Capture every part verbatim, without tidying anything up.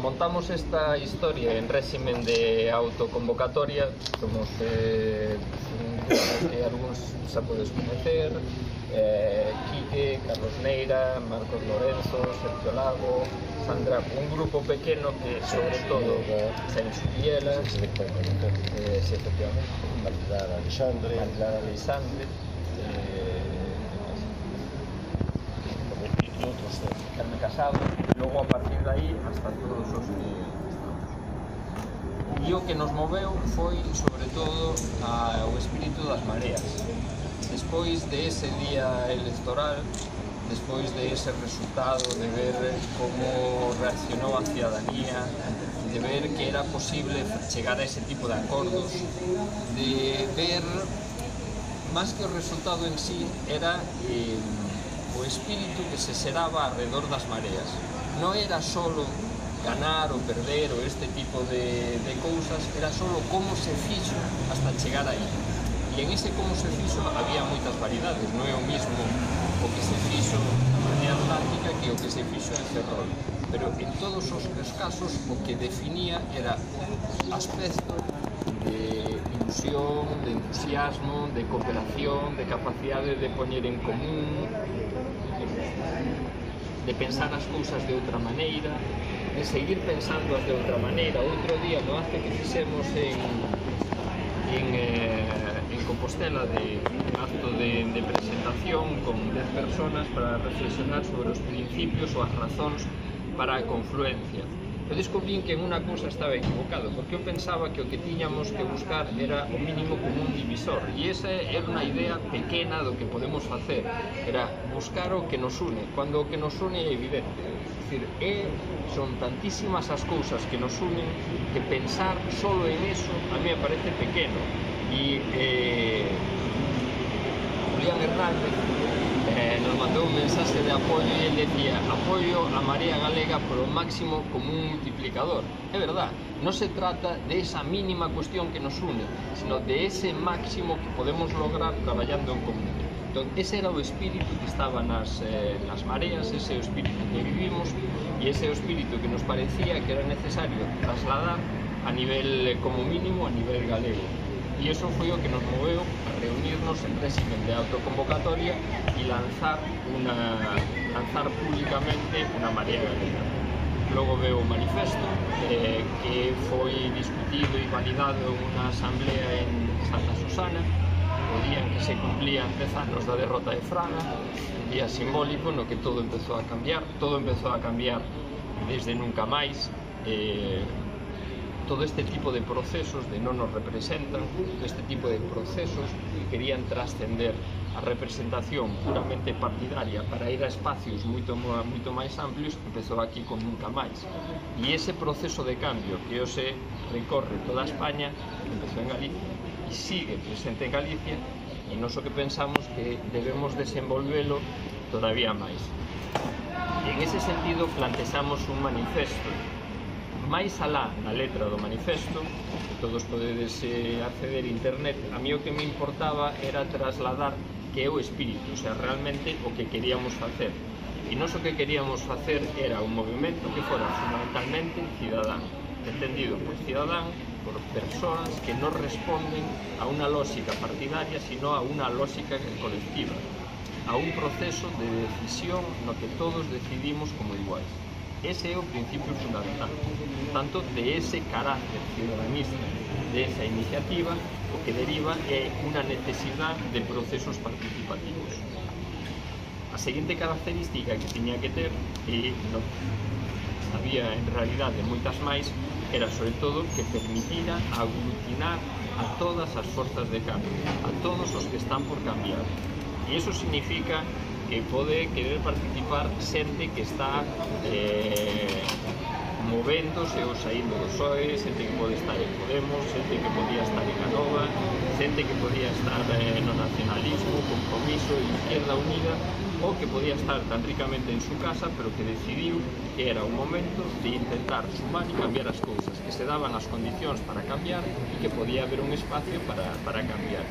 montamos esta historia en régimen de autoconvocatoria. Somos eh, que algúns xa podes conocer, eh, Quique, Carlos Neira, Marcos Lorenzo, Sergio Lago, Sandra, un grupo pequeno que sobre todo Xaime Subielas, eh, sí, efectivamente, Marilar Alexandre, Marilar Alexandre, eh, e outros tres. Carme Casado, logo a partir de aí hasta todos os que estamos. E o que nos moveu foi sobre todo a, o espírito das mareas. Despois de ese día electoral, despois de ese resultado, de ver como reaccionou a ciudadanía, de ver que era posible chegar a ese tipo de acordos, de ver, máis que o resultado en sí, era eh, o espírito que se xeraba alrededor das mareas. Non era solo ganar ou perder ou este tipo de, de cousas, era solo como se fixo hasta chegar aí. E en ese como se fixo había moitas variedades, non é o mismo o que se fixo na Marea Atlántica que o que se fixo en Ferrol. Pero en todos os casos o que definía era aspecto de ilusión, de entusiasmo, de cooperación, de capacidade de poñer en común, de pensar as cousas de outra maneira, de seguir pensándoas de outra maneira. Outro día no acto que fixemos en, en, eh, en Compostela, de un acto de, de presentación con dez personas para reflexionar sobre os principios ou as razóns para a confluencia. Eu descubrín que en unha cousa estaba equivocado, porque eu pensaba que o que tiñamos que buscar era o mínimo común divisor, e esa era unha idea pequena do que podemos facer, era buscar o que nos une, cando o que nos une é evidente. É dicir, é, son tantísimas as cousas que nos unen que pensar solo en eso a mí me parece pequeno. E eh, Julián Hernández Eh, nos mandou un mensaxe de apoio e ele decía: apoio a Marea Galega por o máximo común multiplicador. É verdad, non se trata de esa mínima cuestión que nos une, sino de ese máximo que podemos lograr traballando en común. Entón, ese era o espírito que estaba nas, eh, nas mareas, ese é o espírito que vivimos e ese é o espírito que nos parecía que era necesario trasladar a nivel, como mínimo, a nivel galego. E iso foi o que nos moveu a reunirnos en régimen de autoconvocatoria e lanzar, una, lanzar públicamente unha Marea Galega. Logo veo o manifesto eh, que foi discutido e validado en unha asamblea en Santa Susana, o día en que se cumplían dez anos da derrota de Fraga, un día simbólico no que todo empezou a cambiar, todo empezou a cambiar desde nunca máis. eh, todo este tipo de procesos de non nos representan, este tipo de procesos que querían trascender a representación puramente partidaria para ir a espacios moito, moito máis amplios, empezou aquí con nunca máis. E ese proceso de cambio que hoxe recorre toda España, empezou en Galicia e sigue presente en Galicia, e nós o que pensamos que debemos desenvolvelo todavía máis. E en ese sentido plantexamos un manifesto. Máis alá da letra do manifesto, que todos podedes eh, acceder a internet, a mí o que me importaba era trasladar que é o espírito, o sea, realmente o que queríamos facer. E nós o que queríamos facer era un movimento que fora fundamentalmente cidadán, entendido por cidadán, por persoas que non responden a unha lógica partidaria, sino a unha lógica colectiva, a un proceso de decisión no que todos decidimos como iguais. Ese é o principio fundamental. Tanto, de ese carácter ciudadanista, de esa iniciativa, o que deriva é unha necesidade de procesos participativos. A seguinte característica que tiña que ter, e non había en realidade moitas máis, era sobre todo que permitira aglutinar a todas as forzas de cambio, a todos os que están por cambiar. E iso significa que pode querer participar xente que está eh, movéndose ou saindo do P S O E, xente que pode estar en Podemos, xente que podía estar en Anova, xente que podía estar eh, no nacionalismo, Compromiso, Izquierda Unida, ou que podía estar tan ricamente en su casa, pero que decidiu que era un momento de intentar sumar e cambiar as cousas, que se daban as condicións para cambiar e que podía haber un espacio para, para cambiar.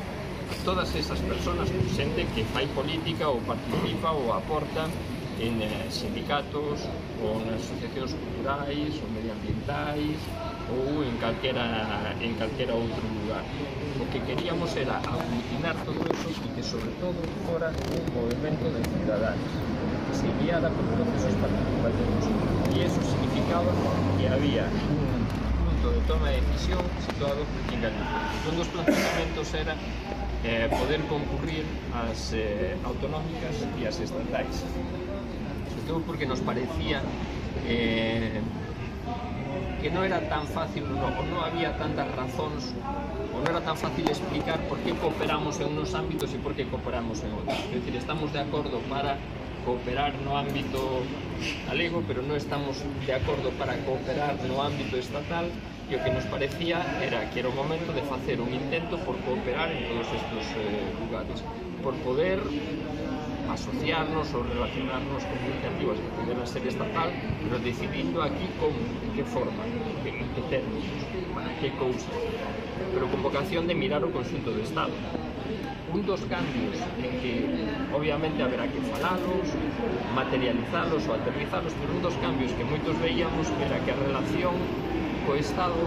Todas esas personas, xente que fai política ou participa ou aporta en eh, sindicatos, ou nas asociacións culturais ou medioambientais ou en calquera, en calquera outro lugar. O que queríamos era aglutinar todo eso e que sobre todo fora un movimento de ciudadanos que se guiara por procesos participativos, e eso significaba que había un punto de toma de decisión situado en Galicia. Un dos planteamentos era eh, poder concurrir ás eh, autonómicas e as estatais, sobre todo porque nos parecía eh, que non era tan fácil, no, ou non había tantas razóns, ou non era tan fácil explicar por que cooperamos en unos ámbitos e por que cooperamos en outros. É dicir, estamos de acordo para cooperar no ámbito galego, pero non estamos de acordo para cooperar no ámbito estatal, e o que nos parecía era que era o momento de facer un intento por cooperar en todos estes eh, lugares, por poder asociarnos ou relacionarnos con iniciativas que pudieran ser estatal, pero decidindo aquí como, en que forma, en que términos, para que cousas, pero con vocación de mirar o conxunto do Estado. Un dos cambios en que obviamente haberá que falalos, materializalos ou aterrizalos, pero un dos cambios que moitos veíamos era que a relación co Estado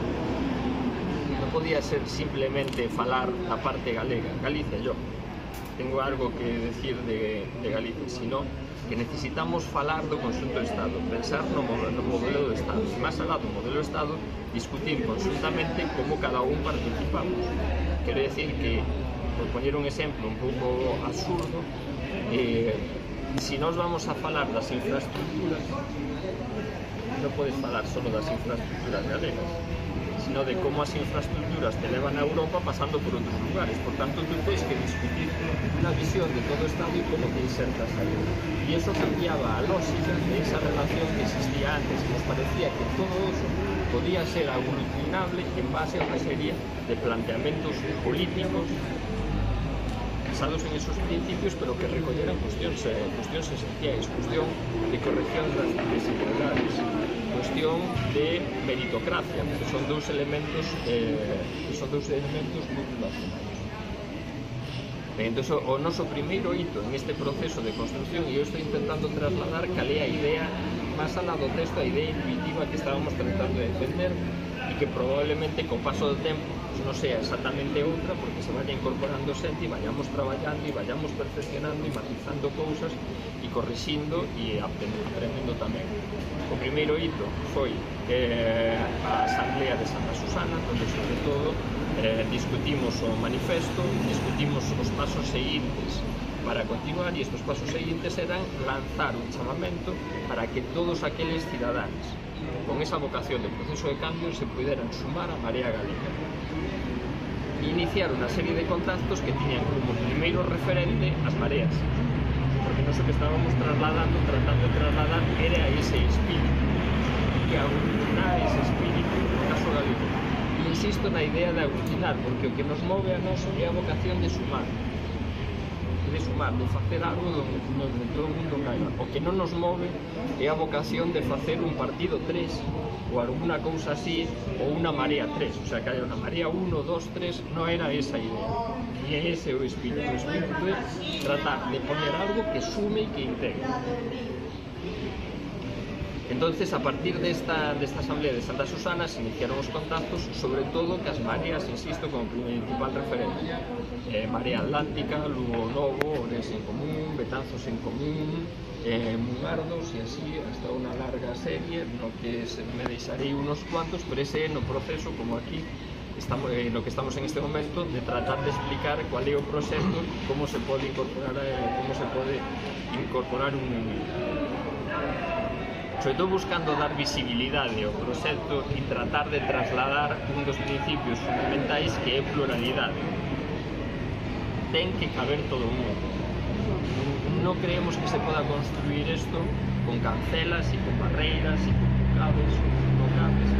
non podía ser simplemente falar da parte galega, Galicia, yo tengo algo que decir de, de Galicia, sino que necesitamos falar do conxunto do Estado, pensar no, no modelo do Estado, e máis alá do modelo do Estado, discutir conjuntamente como cada un participamos. Quero decir que, por poñer un exemplo un pouco absurdo, eh, se nós vamos a falar das infraestructuras, non podes falar só das infraestructuras galegas, sino de como as infraestructuras te levan a Europa pasando por outros lugares. Por tanto, tú tens que discutir unha visión de todo o Estado e como te insertas aí. E eso cambiaba a lógica de esa relación que existía antes, e nos parecía que todo eso podía ser aglutinable en base a unha serie de planteamentos políticos basados en esos principios, pero que recolleran cuestións, eh, cuestións esenciais, cuestión de corrección das desigualdades, cuestión de meritocracia, que son dous elementos eh, que son dous elementos moi relacionados. Ben, entón, o noso primeiro hito en este proceso de construcción, e eu estou intentando trasladar cal é a idea máis alá do texto, a idea intuitiva que estábamos tratando de defender, e que probablemente co paso do tempo non sea exactamente outra, porque se vaya incorporando xente e vayamos traballando e vayamos perfeccionando e matizando cousas e corrixindo e aprendendo tamén. O primeiro hito foi eh, a Asamblea de Santa Susana, onde sobre todo eh, discutimos o manifesto, discutimos os pasos seguintes para continuar, e estes pasos seguintes eran lanzar un chamamento para que todos aqueles cidadáns con esa vocación de proceso de cambio se puderan sumar a Marea Galega e iniciar unha serie de contactos que tiñan como primeiro referente as mareas, porque non sei que estábamos trasladando, tratando de trasladar era ese espírito, que aglutinar ese espírito no caso galego. E insisto na idea de aglutinar, porque o que nos move a nós é a vocación de sumar, de sumar, de facer algo donde todo o mundo caiga. O que non nos move é a vocación de facer un partido tres ou alguna cousa así, ou unha marea tres, o sea, que haya unha marea uno, dos, tres, non era esa idea, e ese é o espírito. O espírito é tratar de poner algo que sume e que integre. Entonces, a partir desta, desta Asamblea de Santa Susana se iniciaron os contactos, sobre todo que as mareas, insisto, como principal referente, eh, Marea Atlántica, Lugo Novo, Ores en Común, Betanzos en Común, eh, Mungardos, e así hasta unha larga serie, no que se, me deixarei unos cuantos, pero ese é no proceso, como aquí, estamos, eh, no que estamos en este momento, de tratar de explicar cual é o proxecto, como se pode incorporar, eh, como se pode incorporar un... sobre todo buscando dar visibilidade ao proxecto e tratar de trasladar un dos principios fundamentais, que é pluralidade. Ten que caber todo o mundo. Non creemos que se poda construir isto con cancelas e con barreiras e con bucados ou con cabes.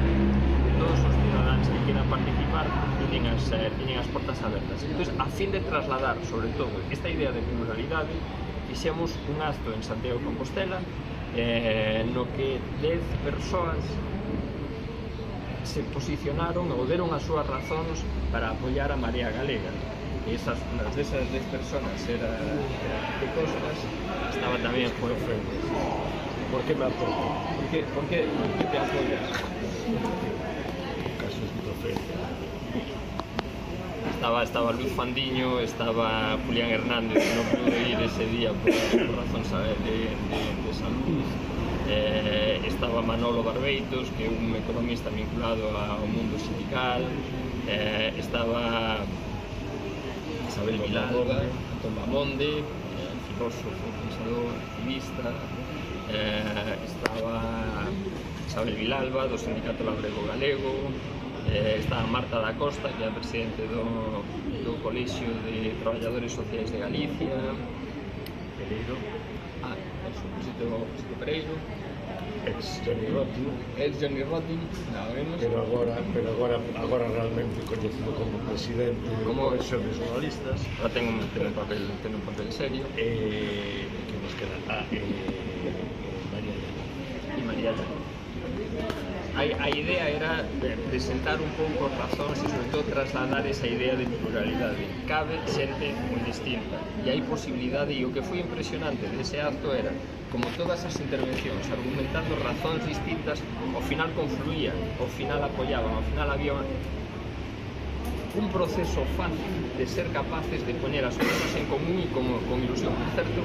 Todos os cidadáns que quieran participar tienen as, eh, tienen as portas abertas. Entón, a fin de trasladar, sobre todo, esta idea de pluralidade, fixemos un acto en Santiago de Compostela, Eh, no que dez persoas se posicionaron ou deron as súas razóns para apoiar a Marea Galega. E esas, unhas desas dez persoas era, era de Costas, estaba tamén Juan Fernández. ¿Por qué me aporto? ¿Por qué, por qué, por qué te apoyas? Caso esquizofrenia. Estaba, estaba Luis Fandiño, estaba Julián Hernández, que no pudo ir ese día por, por razóns de, de, de salud. Eh, estaba Manolo Barbeitos, que é un economista vinculado ao mundo sindical. Eh, estaba Isabel Vilalba, Antón Bamonde, eh, filósofo, pensador, activista. Eh, estaba Isabel Vilalba, do Sindicato Labrego Galego. Eh, estaba Marta da Costa, que é a presidente do, do Colexio de Traballadores Sociais de Galicia. Pereiro. Ah, eso, presidente do presidente Pereiro. Ex Johnny Rotten. Ex Johnny Rotten, nada menos. Pero agora, pero agora, agora realmente coñecido como presidente Como de Comisión de Jornalistas. Ahora ten un, ten un papel, ten un papel serio. Eh, que nos queda? Ah, eh, María Llana. E María Llana. A, a idea era presentar un pouco razóns e sobre todo trasladar esa idea de pluralidade. Cabe xente moi distinta e hai posibilidade, e o que foi impresionante dese acto era como todas as intervencións argumentando razóns distintas, ao final confluían, ao final apoyaban, ao final había un proceso fácil de ser capaces de poñer as cousas en común e como, con ilusión. Por certo,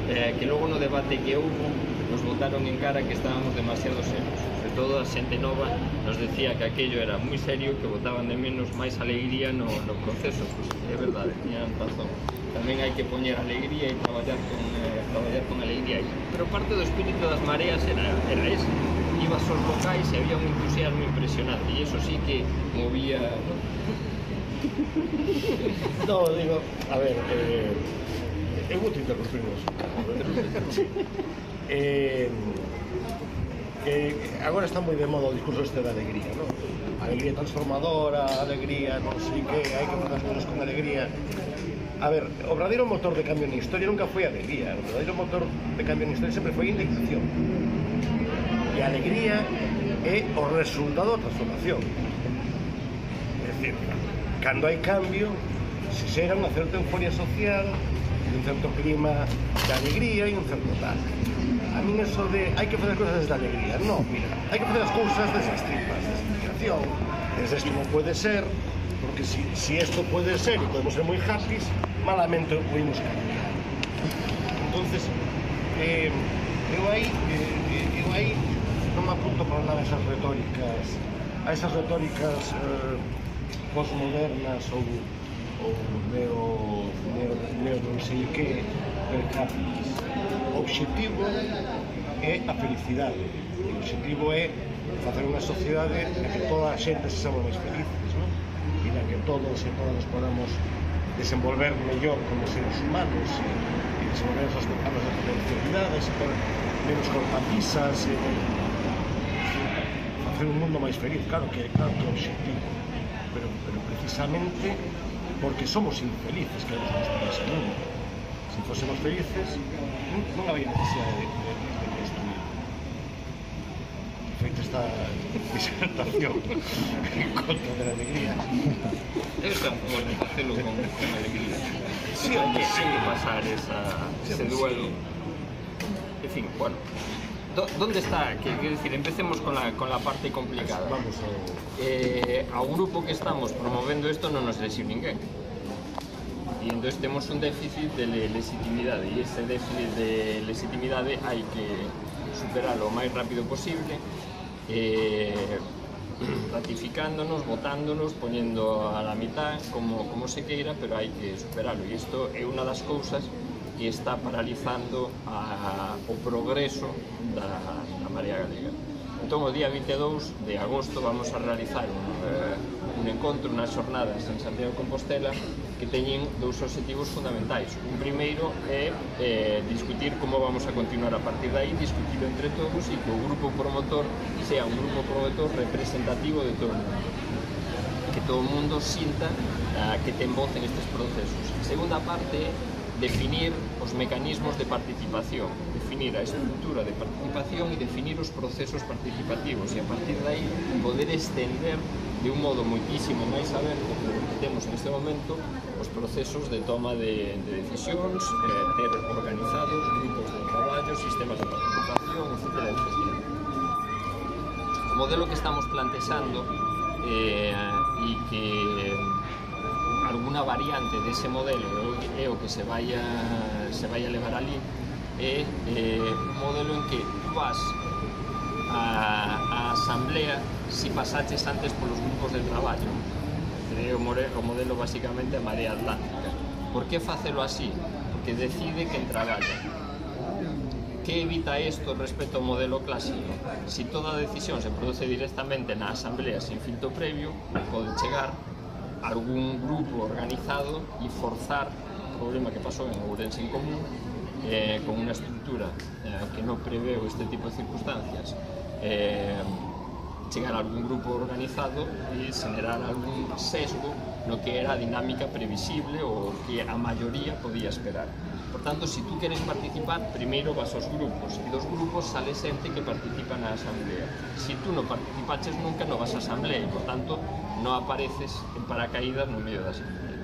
eh, que logo no debate que houve nos botaron en cara que estábamos demasiado serios. Sobre todo a xente nova nos decía que aquello era moi serio, que botaban de menos máis alegría no, no proceso. Pues, é verdade, tiñan razón. Tamén hai que poñer alegría e traballar con, eh, traballar con alegría. Pero parte do espírito das mareas era, era ese. Ibas aos locais e había un entusiasmo impresionante e eso sí que movía, ¿no? No, digo, a ver, eh, eu vou te interrumpir nos eh, que agora está moi de moda o discurso este da alegría, non? Alegría transformadora, alegría, non sei que, hai que facer as cousas con alegría. A ver, o verdadeiro motor de cambio na historia nunca foi a alegría, o verdadeiro motor de cambio na historia sempre foi a indignación. E a alegría é o resultado da transformación. É dicir, cando hai cambio, se xera unha certa euforia social, un certo clima de alegría e un certo tal. A min eso de hai que facer cousas desde a alegría, non, mira, hai que facer as cousas desde as tripas, desde a indignación, desde isto non pode ser, porque si, si esto pode ser e podemos ser moi happy, malamente o podemos cambiar. Entonces, eh, eu aí, eh, eu aí non me apunto para nada a esas retóricas, a esas retóricas eh, postmodernas ou, ou neo, neo, neo non sei que, per capis. O obxectivo é a felicidade, o obxectivo é facer unha sociedade na que toda a xente se samos máis felices, non? E na que todos e todas podamos desenvolver mellor como seres humanos e, e desenvolver as nossas potencialidades e poder menos cortapisas e facer un mundo máis feliz, claro que, claro que é o obxectivo, pero, pero precisamente porque somos infelices que nos gusta ese mundo. Se fósemos felices, non había necesidade de, de, de construir. Feita esta disertación en contra de la alegría. Debe ser bueno facelo con, con alegría. Sí, hai que, sí. hai que pasar esa, Sí, ese sí. duelo. En fin, bueno. Do, ¿Dónde está? Que, que decir, empecemos con la, con la parte complicada. Vamos ao... Eh, ao grupo que estamos promovendo isto non nos lesiu ninguén. E entón temos un déficit de legitimidade e ese déficit de legitimidade hai que superalo o máis rápido posible, eh, ratificándonos, votándonos, poñendo a la mitad como, como se queira, pero hai que superalo e isto é unha das cousas que está paralizando a, o progreso da, da Marea Galega. Entón, o día vinte e dous de agosto vamos a realizar un, eh, un encontro, unhas xornadas en Santiago de Compostela que teñen dous obxectivos fundamentais. Un primeiro é eh, discutir como vamos a continuar a partir de aí, discutirlo entre todos e que o grupo promotor sea un grupo promotor representativo de todo o mundo. Que todo o mundo sinta uh, que ten voz en estes procesos. A segunda parte é definir os mecanismos de participación, definir a estrutura de participación e definir os procesos participativos e a partir de aí poder estender de un modo moitísimo máis aberto que o que temos neste momento os procesos de toma de, de decisións, eh, ter organizados grupos de traballo, sistemas de participación, etcétera, etcétera. O modelo que estamos plantexando eh, e que alguna variante dese modelo é o que se vai a, se vai a levar ali é eh, un modelo en que tú vas a, a asamblea si pasaches antes polos grupos de traballo. É o modelo basicamente a Marea Atlántica. Por que facelo así? Porque decide quen traballa. Que evita isto respecto ao modelo clásico? Si toda a decisión se produce directamente na asamblea sin filtro previo, pode chegar algún grupo organizado e forzar o problema que pasou en Ourense en Común eh, con unha estructura eh, que non preveu este tipo de circunstancias, eh, chegar a algún grupo organizado e generar algún sesgo no que era a dinámica previsible ou que a maioría podía esperar. Por tanto, se si tú queres participar, primeiro vas aos grupos, e dos grupos sale xente que participa na asamblea. Se si tú non participaches nunca, non vas á asamblea e, por tanto, non apareces en paracaídas no medio da asamblea.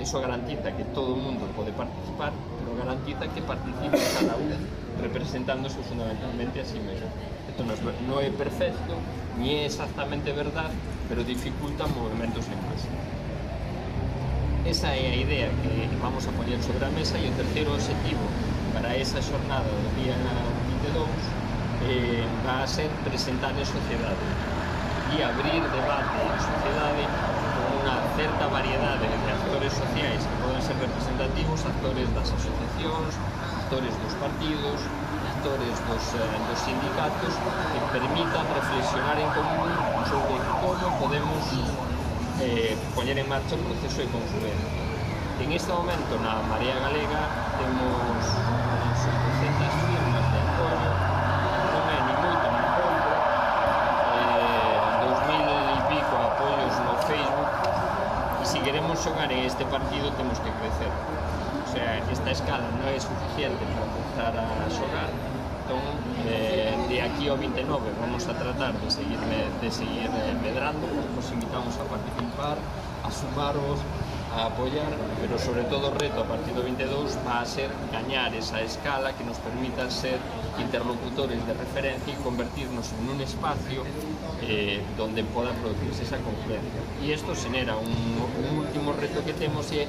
Eso garantiza que todo o mundo pode participar, pero garantiza que participe cada un representándose fundamentalmente a sí mesmo. Isto non é perfecto, ni é exactamente verdad, pero dificulta movimentos en masa. Esa é a idea que vamos a poñer sobre a mesa, e o terceiro objetivo para esa xornada do día vinte e dous eh, va a ser presentar en sociedade e abrir debate en sociedade con unha certa variedade de actores sociais que poden ser representativos, actores das asociacións, actores dos partidos, actores dos, eh, dos sindicatos, que permitan reflexionar en común sobre como podemos eh, poñer en marcha o proceso de confluencia. En este momento na Marea Galega temos setecentas firmas de apoio, non é ni moito ni pouco, eh, dos mil e pico apoios no Facebook, e se queremos xogar en este partido temos que crecer. O sea, esta escala non é suficiente para empezar a xogar. Entón, eh, de aquí ao vinte e nove vamos a tratar de seguir, de seguir eh, medrando. Os invitamos a participar, a sumaros, a apoiar, pero sobre todo o reto a partir do vinte e dous va a ser gañar esa escala que nos permita ser interlocutores de referencia e convertirnos en un espacio eh, donde poda producirse esa confluencia. E isto xenera un, un último reto que temos, é